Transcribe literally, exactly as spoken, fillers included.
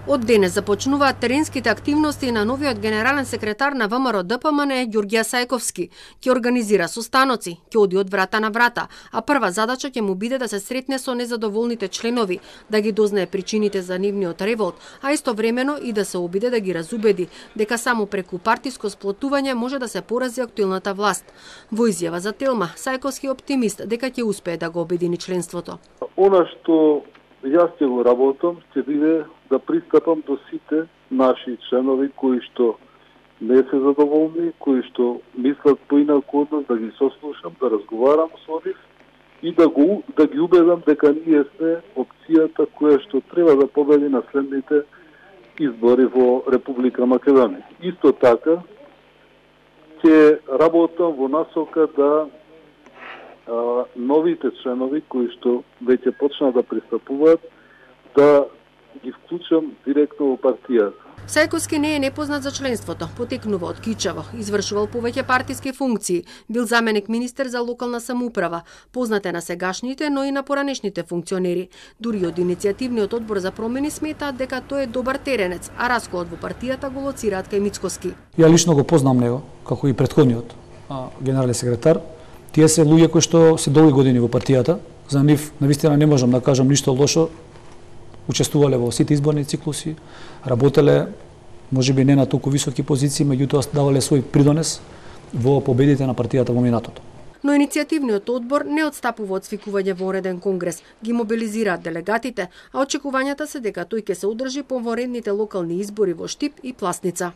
Од денес започнуваат теренските активности на новиот генерален секретар на ВМРО Д П М Н Ѓурѓија Сајковски. Ќе организира состаноци, ќе оди од врата на врата, а прва задача ќе му биде да се сретне со незадоволните членови, да ги дознае причините за нивниот револт, а истовремено и да се обиде да ги разубеди дека само преку партиско сплотување може да се порази актуелната власт. Во изјава за Телма, Сајковски е оптимист дека ќе успее да го обедини членството. Она што јас ќе го работам, ќе биде да пристапам до сите наши членови кои што не се задоволни, кои што мислат поинаку од нас, да ги сослушам, да разговарам со нив и да го да ги убедам дека ние сме опцијата која што треба да победи на следните избори во Република Македонија. Исто така ќе работам во насока да а, новите членови кои што веќе почнаа да пристапуваат да ги вклучам директно во партијата. Сајковски не е непознат за членството, потекнува од Кичево, извршувал повеќе партиски функции, бил заменик министер за локална самоуправа, познат е на сегашните, но и на поранешните функционери. Дури од иницијативниот одбор за промени сметаат дека тој е добар теренец, а расколот во партијата го лоцираат кај Мицкоски. Ја лично го познам него, како и претходниот а, генерален секретар. Тие се луѓе кои што се долги години во партијата, за нив навистина не можам да кажам ништо лошо. Учествувале во сите изборни циклуси, работеле можеби не на толку високи позиции, меѓутоа давале свој придонес во победите на партијата во минатото. Но иницијативниот одбор не отстапува од свикување вонреден конгрес, ги мобилизираат делегатите, а очекувањата се дека тој ќе се одржи по вонредните локални избори во Штип и Пласница.